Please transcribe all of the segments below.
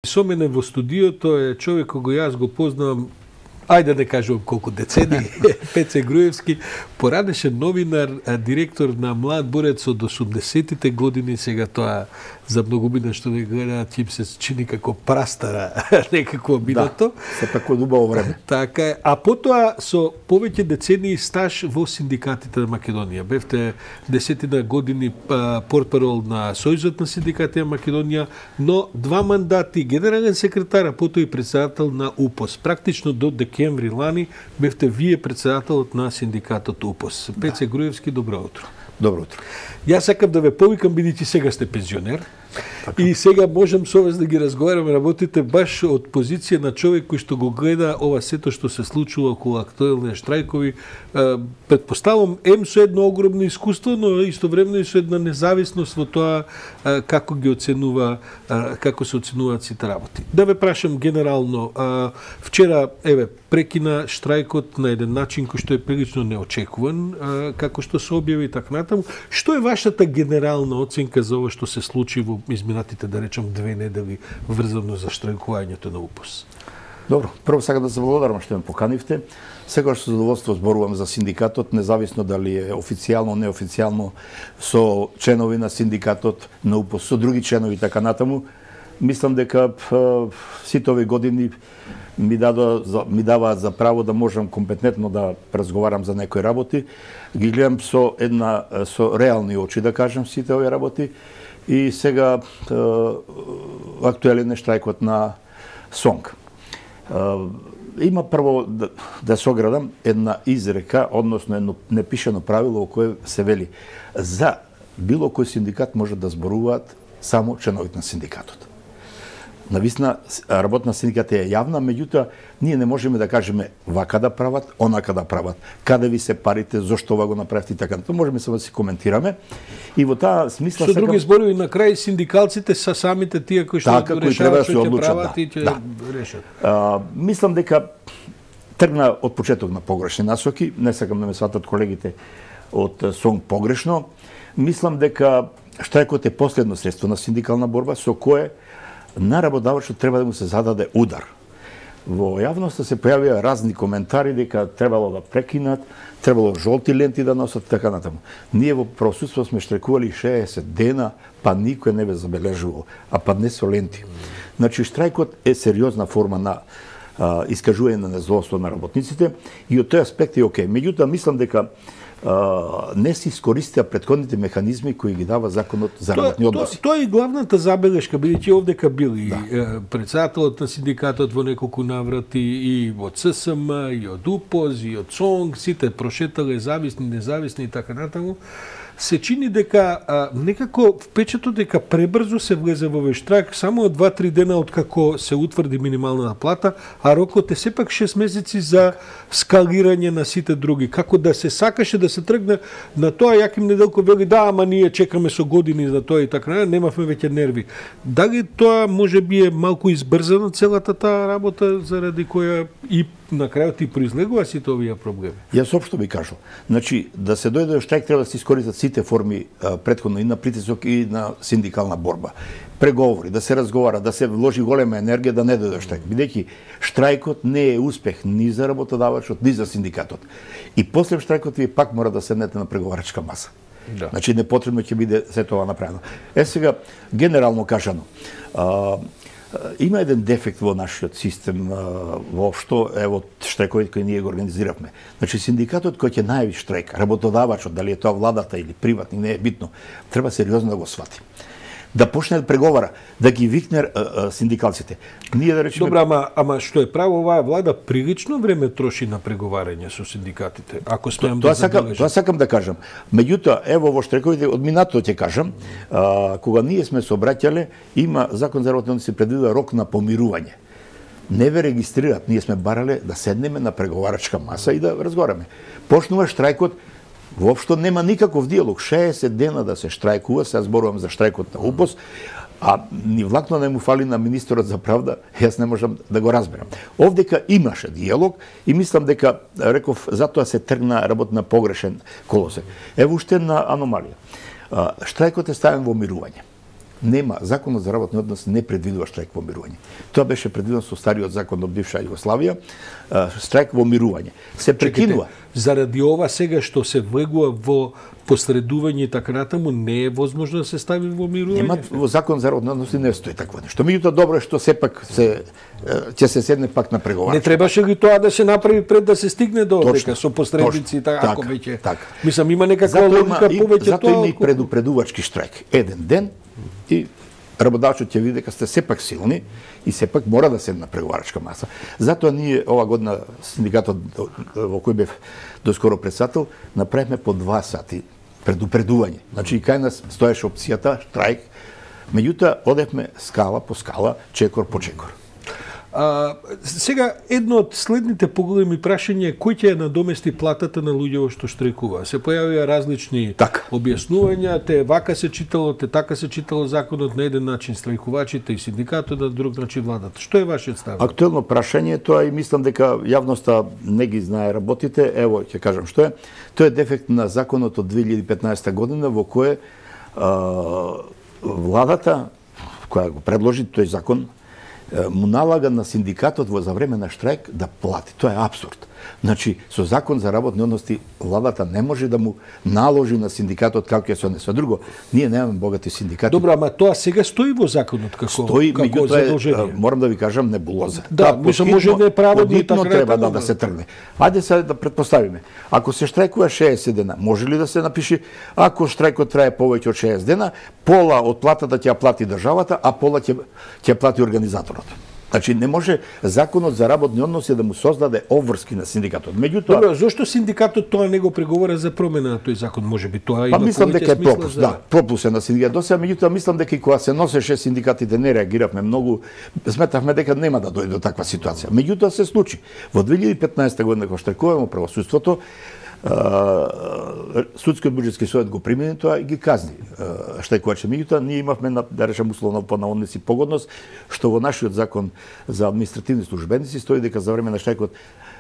Со мене во студиото е човек кој јас го познавам, ајде да не кажувам колку децени, Пеце Груевски, поранешен новинар, директор на Млад борец од 80-тите години, сега тоа за многумина што не гледаат, им се чини како прастара некако минато. Да, се тако убаво време. Така е. А потоа со повеќе децении стаж во синдикатите на Македонија. Бевте 10 години портпарол на Сојузот на синдикатите на Македонија, но 2 мандати генерален секретар, а потоа и председател на УПОС. Практично до декември лани бевте вие председателот на синдикатот УПОС. Пеце Груевски, добро утро. Добро утро. Јас сакам да ве повикам, бидејќи сега сте пензионер. Така. И сега можем со вас да ги разговараме, работите баш од позиција на човек кој што го гледа ова сето што се случува околу актуелни штрајкови. Предпоставам, со едно огромно искуство, но истовремено и со една независност во тоа како ги оценува, како се оценуваат сите работи. Да ве прашам генерално, вчера, прекина штрајкот на еден начин кој што е прилично неочекуван, како што се објави така натаму. Што е вашата генерална оценка за ова што се случи во изминатите, да речем, 2 недели врзано за штрајкувањето на УПОС? Добро, прво сакам да се благодарам што ме поканивте. Секогаш со задоволство зборувам за синдикатот, независно дали е официјално, неофицијално, со членови на синдикатот на УПОС, со други членови така натаму. Мислам дека сите овие години ми даваат за право да можам компетентно да разговарам за некои работи. Ги гледам со реални очи, да кажам, сите овие работи. И сега актуелен е штрајкот на СОНГ. Има прво да се оградам една изрека, односно едно непишано правило во кое се вели за било кој синдикат може да зборуваат само членовите на синдикатот. Нависна, работна синдиката е јавна, меѓутоа, ние не можеме да кажеме вака да прават, онака да прават, каде ви се парите, зошто ова го направите и така. Тоа можеме само да си коментираме. И во таа смисла со други зборови, на крај синдикалците са самите тие кои што решаваат што ќе прават и ќе решат. Мислам дека тргна од почеток на погрешни насоки, не сакам да ме сватат колегите од СОНГ погрешно. Мислам дека штрајкот е последно средство на синдикална борба со кое на работодавачот треба да му се зададе удар. Во јавноста се појавија разни коментари дека требало да прекинат, требало жолти ленти да носат така натаму. Ние во просудство сме штрajkували 60 дена, па никој не ве забележувал, а па не со ленти. Значи штрајкот е сериозна форма на искажување на незадоволство на работниците и од тој аспект е окей. Меѓутоа мислам дека не се искористија претходните механизми кои ги дава законот за работни односи. Тоа е главната забелешка, бидејќи овдека бил и председателот на синдикатот во неколку наврати, и од ССМ, и од УПОС, и од СОНГ, сите прошетале зависни, независни и така натаму. Се чини дека некако впечатот дека пребрзо се влезе во овој штрак, само 2-3 дена откако се утврди минималната плата, а рокот е сепак 6 месеци за скалирање на сите други. Како да се сакаше да се тргне на тоа, Јаким Неделков вели да, ама ние чекаме со години за тоа и така, немавме веќе нерви. Дали тоа можеби е малку избрзано целата таа работа заради која и на крајот и произлегува сите овие проблеми? Јас општо би кажал. Значи, да се дојде до штрајк треба да се искористат сите форми претходно и на притисок и на синдикална борба. Преговори, да се разговара, да се вложи голема енергија да не дојде до штрајк. Бидејќи штрајкот не е успех ни за работодавачот, ни за синдикатот. И после штрајкот вие пак мора да седнете на преговарачка маса. Да. Значи, непотребно ќе биде се тоа направено. Сега, генерално кажано, има еден дефект во нашиот систем воопшто, ево штрајковите кои ние го организиравме. Значи синдикатот кој ќе најави штрајк, работодавачот, дали е тоа владата или приватни, не е битно, треба сериозно да го свати. Да почне да преговара, да ги викне синдикалците. Ние да речеме... Добра, ама што е право, оваа влада прилично време троши на преговарање со синдикатите. Ако смеам да забележам. Тоа сакам да кажам. Меѓутоа, ево во штрајковите од минатото ќе кажам, кога ние сме се обраќале, има закон за работни односи предвидува рок на помирување. Не ве регистрираат, ние сме барале да седнеме на преговарачка маса и да разговараме. Почнува штрајкот. Воопшто нема никаков диалог. 60 дена да се штрајкува, сега зборувам за штрајкот на УПОС, а ни влакно не му фали на министерот за правда, јас не можам да го разберам. Овдека имаше диалог и мислам дека, реков, затоа се тргна работ на погрешен колосек. Ево уште една аномалија. Штрајкот е ставен во мирување. нема, законот за работни односи не предвидува штрајк во мирување. Тоа беше предвидено со стариот закон од бивша Југославија, штрајк во мирување. Се прекинува. Заради ова сега што се влегува во посредување и така натаму, не е возможно да се стави во мирување? Нема, во закон за работни односи не стои такво нешто. Меѓутоа добро е што сепак ќе се седне пак на преговарачка. Не требаше ли тоа да се направи пред да се стигне до дека со посредници и така, ако веќе. Мислам има некаква логика повеќе тоа. Затоа има и предупредувачки штрајк. Еден ден и работодавачот ќе види дека сте сепак силни и сепак мора да седне на преговарачка маса. Затоа ние ова година синдикатот во кој бев доскоро председател направивме по 2 сати предупредување. Значи и кај нас стоеше опцијата штрајк, меѓутоа одевме скала по скала, чекор по чекор. Сега, едно од следните поголеми прашања е кој ќе ја надомести платата на луѓето што штрекува. Се појавија различни објаснувања, те вака се читало, те така се читало законот, на еден начин страјкувачите и синдикатот, на друг начин владата. Што е вашиот став? Актуелно прашање, тоа и мислам дека јавноста не ги знае работите. Ево, ќе кажам што е. Тоа е дефект на законот од 2015 година во кој владата која го предложи тој закон му налага на синдикатот за време на штрајк да плати. Тоа е апсурд. Значи, со закон за работни односи владата не може да му наложи на синдикатот како ќе се однесе. Друго, ние немаме богати синдикати. Добро, ама тоа сега стои во законот како задолжение. Морам да ви кажам небулоза. Да, може да е праводно и така треба да се тргне. Ајде сега да предпоставиме. Ако се штрајкува 60 дена, може ли да се напише ако штрајкот трае повеќе од 60 дена, пола од платата ќе ја плати државата, а пола ќе плати организаторот. Значи не може законот за работни односи да му создаде обврски на синдикатот. Меѓутоа, добро, зошто синдикатот тоа не го преговара за промена на тој закон? Можеби тоа има мислам дека е пропуск, да, пропуск е на синдикатот. Досега, меѓутоа мислам дека и кога се носеше синдикатите не реагиравме многу, сметавме дека нема да дојде до таква ситуација. Меѓутоа се случи. Во 2015 година кога штрајкуваме правосудството, Судскиот буџетски совет го примени тоа и ги казни штрајкувачите. Меѓутоа ние имавме, да речем условно по наводници погодност, што во нашиот закон за административни службеници стои дека за време на штрајкот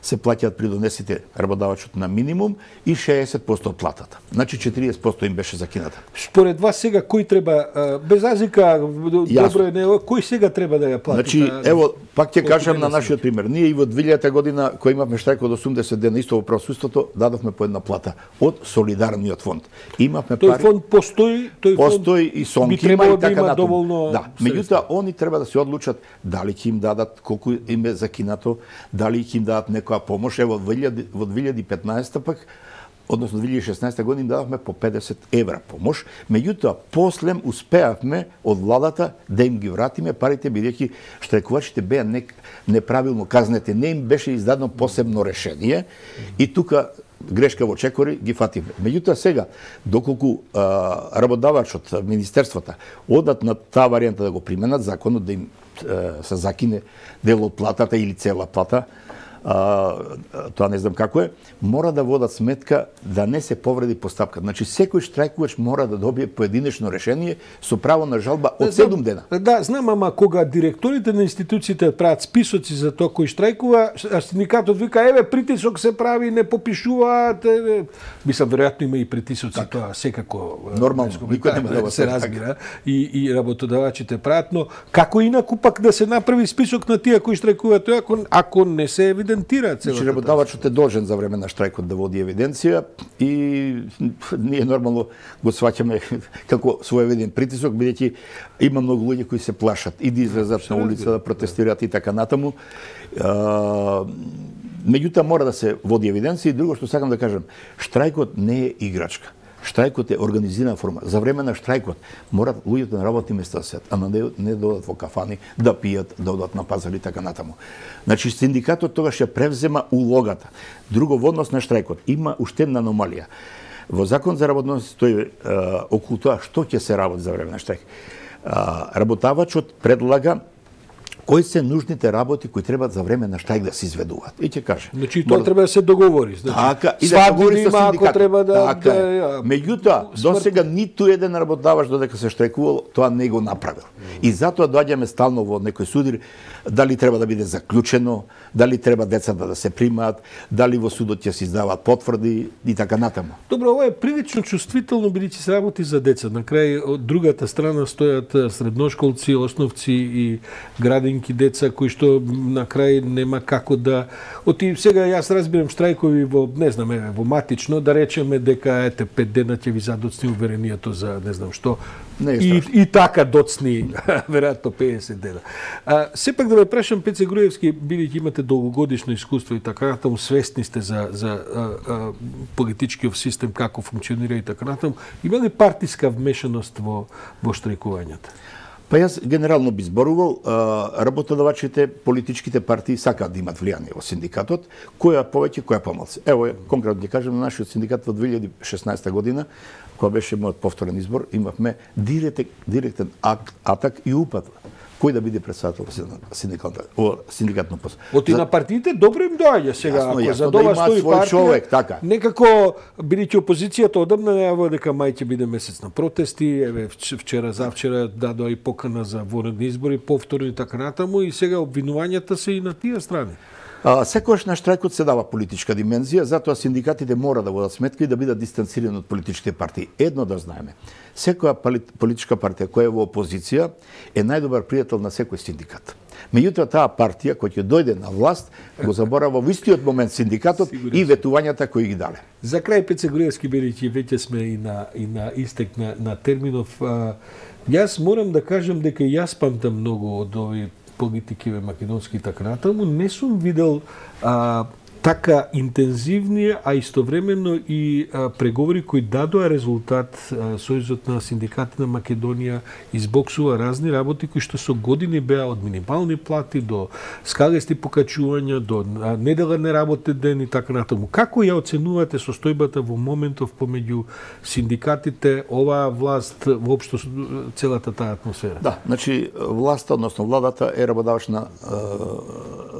се плаќаат придонесите работодавачот на минимум и 60% од платата. Значи 40% им беше закината. Според вас сега кој треба, без разлика, добро е, кој сега треба да ја плати? Значи, ево, пак ќе кажам на нашиот пример. Ние и во 2000 година, кој имавме штрајк од 80 дена исто во правосудството, дадовме по една плата од солидарниот фонд. Имавме пари. Тој фонд постои, постои и сонки има и така натаму. Доволно. Да, меѓутоа они треба да се одлучат дали ќе им дадат колку им е закинато, дали ќе им дадат некоја помош. Ево во 2015 пак, односно 2016 година им дадовме по 50 евра помош, меѓутоа после успеавме од владата да им ги вратиме парите, бидејќи штрајкувачите беа неправилно казнети, не им беше издадено посебно решение и тука грешка во чекори ги фативме. Меѓутоа сега, доколку работодавачот, министерствата одат на таа варијанта да го применат законот да им се закине дел од платата или цела плата, тоа не знам како е, мора да водат сметка да не се повреди постапка. Значи секој штрајкувач мора да добие поединечно решение со право на жалба од 7 дена. Да, знам, ама кога директорите на институциите прават списоци за тоа кој штрајкува, а синдикатот вика еве притисок се прави, не попишуваат, мислам веројатно има и притисоци, тоа секако нормално, никој нема да се разбира и работодавачите прават, но како инаку пак да се направи список на тие кои штрајкуваат, ако не се евидентира целата. Значи работодавачот е должен за време на штрајкот да води евиденција и ние нормално го сваќаме како своевиден притисок, бидејќи има многу луѓе кои се плашат и да излезат на улица да протестираат и така натаму. Меѓутоа мора да се води евиденција и друго што сакам да кажам, штрајкот не е играчка. Штрајкот е организирана форма. За време на штрајкот морат луѓето на работни места да седат, а не да одат во кафани, да пијат, да одат на пазар и така натаму. Значи синдикатот тогаш ќе превзема улогата. Друго, во однос на штрајкот има уште една аномалија. Во закон за работни односи стои околу тоа што ќе се работи за време на штрајк. Работодавачот предлага кои се нужните работи кои треба за време на штрајк да се изведуваат. И ќе каже. Значи тоа треба да се договори, значи. Така, и да договори со синдикатот. Ако треба да Меѓутоа, досега ниту еден работодавач додека се штрајкувал, тоа не го направил. И затоа доаѓаме стално во некој судир, дали треба да биде заклучено, дали треба децата да се примаат, дали во судот ќе се издаваат потврди и така натаму. Добро, ова е прилично чувствително бидејќи се работи за деца. На крај од другата страна стојат средношколци, основци и градинки деца кои што на крај нема како да сега јас разбирам штрајкови во не знам во матично да речеме дека ете 5 дена ќе ви задоцни уверението за не знам што. И така доцни веројатно 50 дена. Сепак да ве прашам Пеце Груевски, бидејќи имате долгогодишно искуство и така натаму, свесни сте за политичкиот систем како функционира и така натаму, има ли партиска вмешаност во штрајкувањата? Па јас генерално би зборувал, работодавачите, политичките партии сакаат да имат влијание во синдикатот, која повеќе, која помалку. Ево, конкретно ќе кажем, на нашиот синдикат во 2016 година, кога беше мојот повторен избор, имавме директен атак и упад кој да биде председател во синдикатно пост. Оти на партиите добро им доаѓа сега, ако за да ова стои партија, човек, така. Некако бидејќи опозицијата одамна најавува дека мај ќе биде месец на протести, еве вчера завчера дадоа и покана за вонредни избори, повторни и така натаму, и сега обвинувањата се и на тие страни. Секогаш на штрајкот се дава политичка димензија, затоа синдикатите мора да водат сметка и да бидат дистанцирани од политичките партии. Едно да знаеме, секоја политичка партија која е во опозиција е најдобар пријател на секој синдикат. Меѓутоа таа партија која ќе дојде на власт го заборава во истиот момент синдикатот и ветувањата кои ги дале. За крај Пеце Груевски, бидејќи веќе сме и на истек на терминов, јас морам да кажам дека јас памтам многу од овие политики македонски и така натаму, не сум видел така интензивни, а истовремено и преговори кои дадоа резултат. Сојузот на синдикати на Македонија избоксува разни работи кои што со години беа од минимални плати до скалести покачувања, до недела неработен ден и така натаму. Како ја оценувате состојбата во моментов помеѓу синдикатите, оваа власт, воопшто целата таа атмосфера? Да, значи власта, односно владата е работодавач на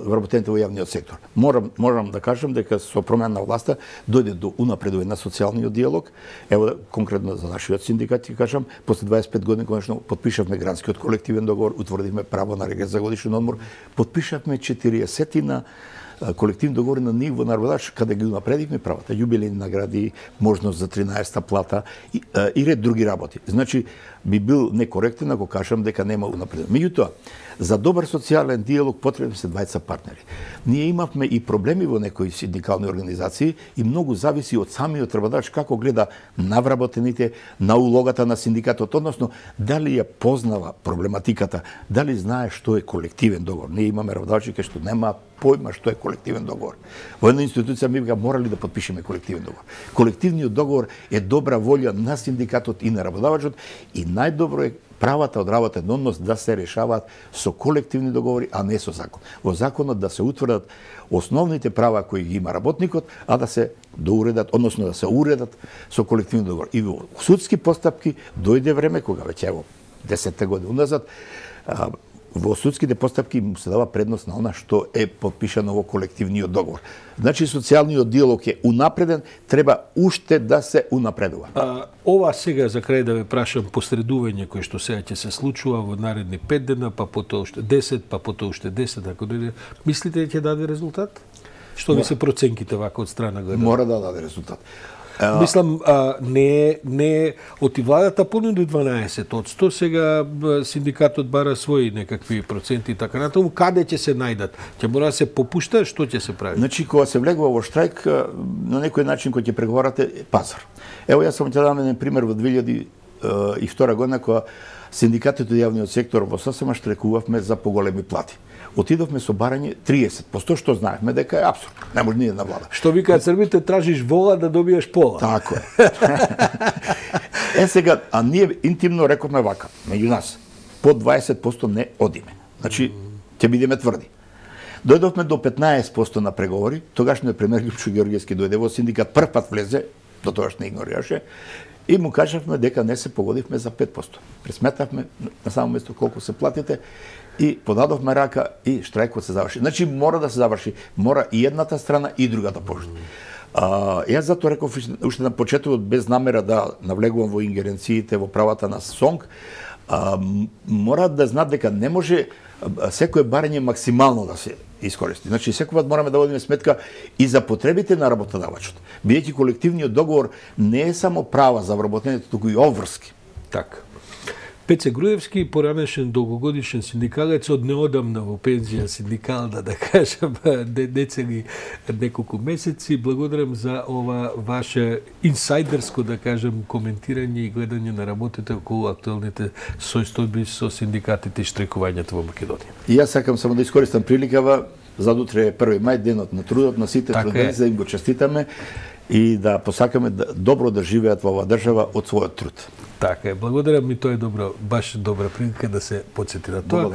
вработените во јавниот сектор. Морам да кажам дека со промена на власта дојде до унапредување на социјалниот диалог. Ево конкретно за нашиот синдикат ќе кажам, после 25 години конечно потпишавме гранскиот колективен договор, утврдивме право на регрес за годишен одмор, потпишавме 40 на колективни договори на ниво на работодавач, каде ги унапредивме правата, јубилејни награди, можност за 13-та плата и ред други работи. Значи би бил некоректен ако кажам дека нема унапредување. Меѓутоа, за добар социјален диалог потребни се двајца партнери. Ние имавме и проблеми во некои синдикални организации и многу зависи од самиот работодавач како гледа на вработените, на улогата на синдикатот, односно дали ја познава проблематиката, дали знае што е колективен договор. Ние имаме работодавачи кои што немаат појма што е колективен договор. Во една институција ми беа морали да потпишеме колективен договор. Колективниот договор е добра волја на синдикатот и на работодавачот и најдобро е правата од работен однос да се решаваат со колективни договори, а не со закон. Во законот да се утврдат основните права кои ги има работникот, а да се доуредат, односно да се уредат со колективни договори. И во судски постапки дојде време кога веќе ево 10 години уназад во судските постапки му се дава предност на она што е потпишано во колективниот договор. Значи социјалниот диалог е унапреден, треба уште да се унапредува. Ова сега за крај да ве прашам посредување кој што сега ќе се случува во наредни 5 дена, па потоа уште 10, па потоа уште 10, ако дојде, мислите ќе даде резултат? Што ви се проценките вака од страна гледа? Мора да даде резултат. Мислам, не оти владата понуди 12%, сега синдикатот бара своји некакви проценти и така натаму, каде ќе се најдат? Ќе мора да се попушта, што ќе се прави? Значи, кога се влегува во штрајк, на некој начин кој ќе преговарате е пазар. Ево, јас сам ќе дам еден пример во 2002 година, кога синдикатите од јавниот сектор во ССМ штрајкувавме за поголеми плати. Отидовме со барање 30%, што знаевме дека е апсурд. Не може ни една влада. Што викаат србите, тражиш вола да добиеш пола. Тако е. Сега, а ние интимно рековме вака, меѓу нас, под 20% не одиме. Значи, ќе бидеме тврди. Дојдовме до 15% на преговори, тогашниот премиер Лјупчо Ѓорѓевски дојде во синдикат, прв пат влезе, до тогаш не игнорираше, и му кажавме дека не се погодивме за 5%. Пресметавме на само место колку се платите и подадовме рака и штрајкот се заврши. Значи мора да се заврши, мора и едната страна и другата пошта. Јас затоа реков уште на почетокот, без намера да навлегувам во ингеренциите во правата на СОНГ, мора да знаат дека не може секое барање максимално да се искористи. Значи секогаш мораме да водиме сметка и за потребите на работодавачот. Бидејќи колективниот договор не е само права за вработените, туку и обврски. Така. Пеце Груевски, поранешен долгогодишен синдикалец, од неодамна во пензија синдикална, да кажам, не цели неколку месеци. Благодарам за ова ваше инсайдерско, да кажам, коментирање и гледање на работите околу актуелните состојби со синдикатите и штрекувањето во Македонија. И јас сакам само да искористам приликава, задутре е 1 мај, денот на трудот на сите трудници, да им го честитаме и да посакаме добро да живеат во оваа држава од својот труд. Така е, благодарам, и тоа е добро, баш добра прилика да се потсети на тоа.